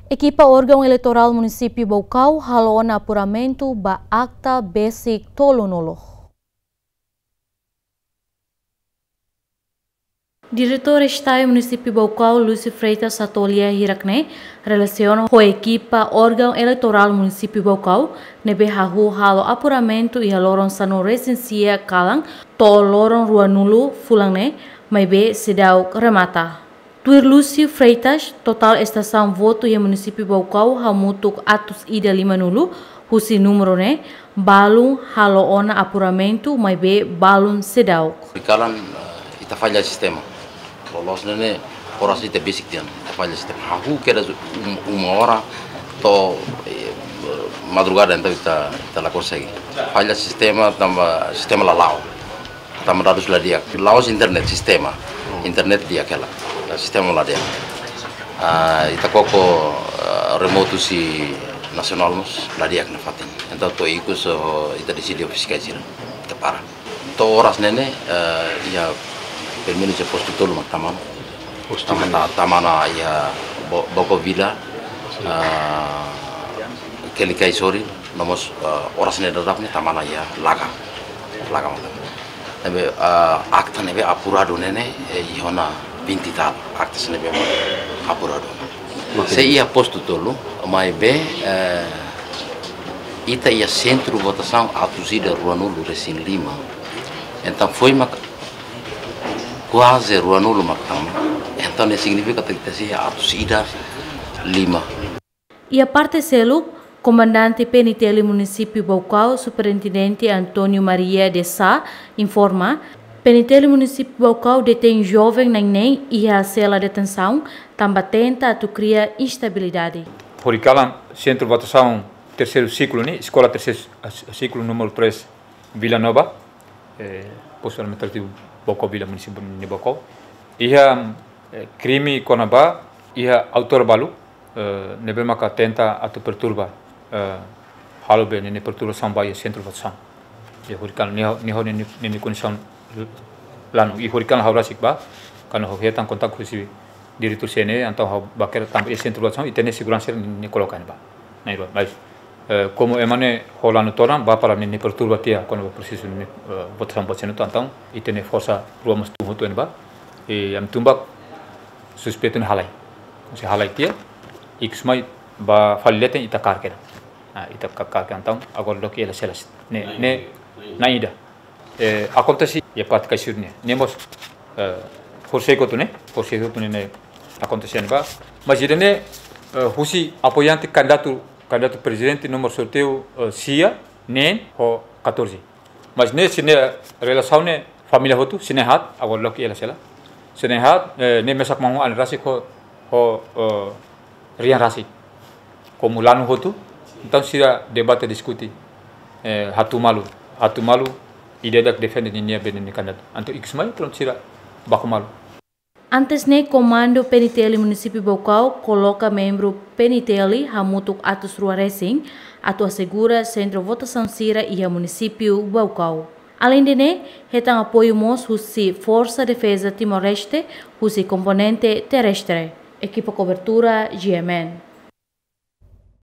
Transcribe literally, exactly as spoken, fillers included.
Ekipa órgaun eleitorál Munisípiu Baucau halo ona apuramentu ba akta besik tolunulu. Diretór Estadu Munisípiu Baucau, Lúcio Freitas, hato'o lia hirak ne'e relasiona ho ekipa órgaun eleitorál Munisípiu Baucau ne'ebé hahú halo apuramentu iha loron sanulu-resin-sia kalan to'o loron ruanulu fulan ne'e, maibé seidauk remata. Tuir Lúcio Freitas, totál estasaun votu iha Munisípiu Baucau hamutuk atus ida limanulu, husi númeru ne'e balun halo ona apuramentu, maibé balun seidauk. Kalan, eh, ita falla sistema. Loloos ne'e ne'e, oras ita besik tiha ona, ita falla sistema. Hahú kedas um-, uma hora to'o, eh, madrugada, entaun ita, ita la konsege. Falla sistema tanba sistema la la'o. Tanba dadus la di'ak. La'ós internet, sistema. Internet di'ak hela. Sistema la di'ak. Ah, ita koko, ah, remotu husi nasionál mós la di'ak nafatin. Entaun to'o ikus, oh, ita deside ho fiskál sira. Ita para. To'o oras ne'e ne'e, eh, iha pelumenus iha postu tolu mak tama ona. Postu tolu. Tama ona, tama ona iha Bo-, Baucau Vila, eh, Kelikaisori, no mós, eh, oras ne'e daudauk ne'e tama ona iha Laga. Laga mak tama ona. Ne'ebé, eh, akta ne'ebé apuradu ne'e ne'e, eh, iha ona vinte e tal. Akta sira ne'ebé apuradu. Oke. Sei iha postu tolu, maibé, eh, ita iha sentru votasaun atus ida ruanulu-resin-lima. Entaun foin mak kuaze ruanulu mak tama. Entaun ne'e signifika katak ita sei iha atus ida lima. Iha parte seluk, Komandante P N T L Munisípiu Baucau, Superintendente António Maria de Sá, informa, P N T L Munisípiu Baucau detein joven na'in neen iha sela detensaun, tanba tenta atu kria instabilidade. Horikalan, sentru votasaun terseiru siklu ne'e, eskola terseiru siklu númeru três, Vila Nova, eh, postu administrativu Baucau Vila, munisípiu de Baucau. Iha, eh, krime kona-ba, iha autór balu, eh, ne'ebé maka tenta atu perturba, eh, halo be ne'e ne'e perturbasaun ba iha sentru votasaun. Iha horikalan ne'e, ne'e, ne'e, ne'e, ne'e kondisaun lanu. Iha horikalan ha'u rasik bá, kuandu ha'u hetan kontaktu husi diretór C N E, entaun ha'u bá kedas tanba iha sentru votasaun, ita-nia seguransa ne'e, ne'e koloka iha ne'ebá. Ne'ebá, mas, eh, komu ema ne'e ho lanu todan, bá para ne'e, ne'e perturba tiha, kona-ba prosesu ne'e, eh, votasaun ba sentru, entaun, ita-nia forsa rua mós tun hotu iha ne'ebá, i ami tun bá suspeitu ne'e halai. Se halai tiha, ikus mai bá fali leten ita kaer kedas. Ah, ita ka-, kaer kedas entaun, agora loke hela sela. Ne'e, ne'e, na'in ida. Eh, akontese iha parte Kaixuri ne'e. Ne'e mós, eh, horisehik hotu ne'e, horisehik hotu ne'e, ne'e akontese iha ne'ebá. Mas ida-ne'e, eh, husi apoiante kandidatu, kandidatu prezidente númeru sorteiu, eh, sia, neen ho katorze. Mas ne'e sira-nia relasaun ne'e família hotu, sira na'in haat, agora loke hela sela. Sira na'in haat, eh, ne'e mesak maun alin rasik ho, ho, eh, rian rasik. Komu lanu hotu, entaun sira debate diskute, eh, hatu malu, hatu malu, ida-idak defende ninia be ninia kandidatu. Entaun ikus mai, prontu sira baku malu. Antes ne'e, Komandu P N T L Munisípiu Baucau koloka membru P N T L hamutuk atus rua resin, atu asegura sentru votasaun sira iha Munisípiu Baucau. Aleinde ne'e, hetan apoiu mós husi Forsa Defeza Timor-Leste, husi komponente terrestre. Ekipa kobertura, G M N.